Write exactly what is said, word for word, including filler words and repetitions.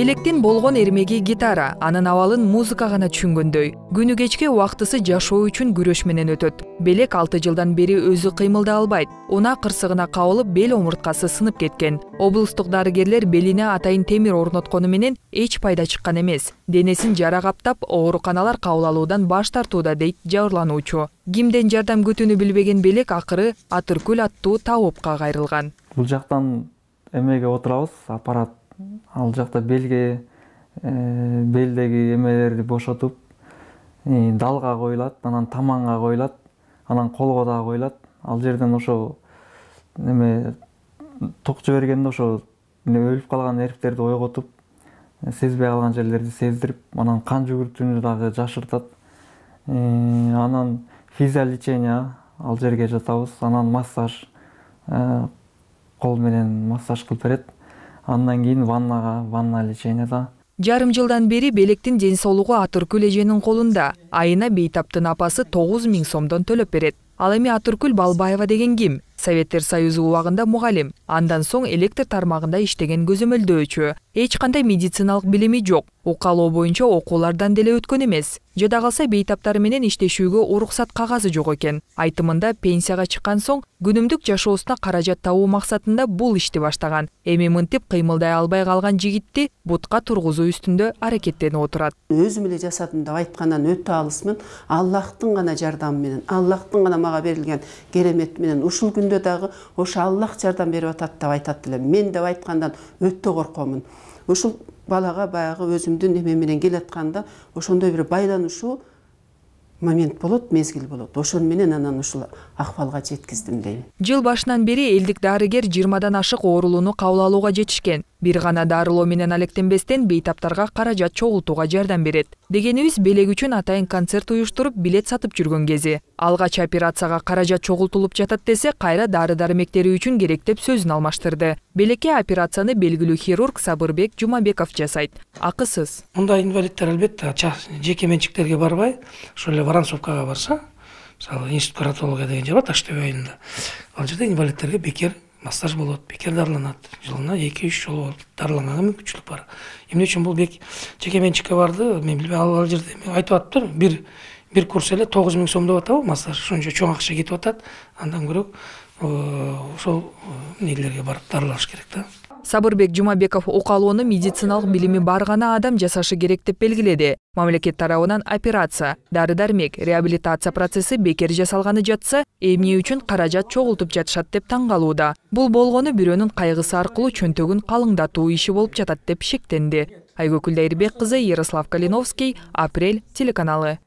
Белектин болгон эрмеги гитара, анын абалын музыка гана түшүнгөндөй. Күнү кечке убактысы жашоо үчүн күрөш менен өтөт. Белек алты жылдан бери өзү кыймылдай албайт. Унаа кырсыгына кабылып, бел омурткасы сынып кеткен. Облустук дарыгерлер белине атайын темир орноткону менен эч пайда чыккан эмес. Денесин жара каптап, ооруканалар кабыл алуудан баш тартууда, дейт жабырлануучу. Кимден жардам күтүүнү билбеген Белек акыры Атыркүл аттуу табыпка кайрылган. Бул жактан эмеге отурабыз, аппарат ал жакта белге, белдеги эмелерди бошотуп, далга коюлат, анан таманга коюлат, анан колго да коюлат. Ал жерден ошо эме ток жибергенде ошо өлүп калган нервтерди ойготуп, сезбей калган жерлерди сездирип, анан кан жүгүртүүнү дагы жашыртат. Анан физиолечение ал жерге жатабыз, анан массаж, кол менен массаж кылып берет. Андан кийин ваннага, ванна лечение да. Жарым жылдан бери Белектин ден соолугу Атыркүл эженин колунда. Айына Бейтаптын апасы тогуз миң сомдон төлөп берет. Ал эми Атыркүл Балбаева деген ким? Советтер Союзу убагында мугалим, андан соң электр тармагында иштеген көзөмөлдөөчү. Эч кандай медициналык билими жок. Укалоо боюнча окуулардан деле өткөн эмес. Жада калса бейтаптары менен иштешүүгө уруксат кагазы жок экен. Айтымында пенсияга чыккан соң күнүмдүк жашоосуна каражат табуу максатында бул ишти баштаган. Эми мынтип кыймылдай албай калган жигитти бутка тургузуу үстүндө аракеттенип отурат. Өзүм эле жасадым деп айткандан өтө алысмын. Аллахтын гана жардамы менен, Аллахтын гана мага берилген керемет менен ушул күндө дагы ошо Аллах жардам берип атат деп айтат элем. Мен деп айткандан өтө коркомун. Ушул балага баягы өзүмдүн эме менен келатканда ошондой бир байланышуу момент болот, мезгил болот. Ошон менен анан ушул акыбалга жеткиздим дейм. Жыл башынан бери элдик дарыгер жыйырмадан ашык оорулууну кабыл алууга жетишкен. Бир гана дарылоо менен алектенбестен бейтаптарга каражат чогултууга жардам берет. Дегенибиз Белек үчүн атайын концерт уюштуруп, билет сатып жүргөн кези. Алгач операцияга каражат чогултулуп жатат десе, кайра дары-дармектери үчүн керек деп сөзүн алмаштырды. Белекке операцияны белгилүү хирург Сабырбек Жумабеков жасайт. Акысыз. Мындай инвалиддер албетте жеке менчиктерге барбай, ошол эле Воронцовкага барса, мисалы институт каратология деген жер бар Таш-Төбө айылында. Ал жерде инвалидтерге бекер массаж болот, бекер дарыланат. Жылына эки үч жолу дарыланганга мүмкүнчүлүк бар. Эмне үчүн бул бек жеке менчикке барды? Мен билбейм, ал жерде айтып атыптыр. Бир бир курс эле тогуз миң сом деп атабы массаж. Ошончо чоң акча кетип атат. Андан көрөк ошол нелерге барып дарылаш керек да. Сабырбек Жумабеков укалоону медициналык билими бар гана адам жасашы керек деп белгиледи. Мамлекет тарабынан операция, дары-дармек, реабилитация процесси бекер жасалганы жатса, эмне үчүн каражат чогултуп жатышат деп таң калууда. Бул болгону бирөөнүн кайгысы аркылуу чөнтөгүн калыңдатуу иши болуп жатат деп шектенди. Айгөкүл Дайырбек кызы, Ярослав Калиновский, Апрель телеканалы.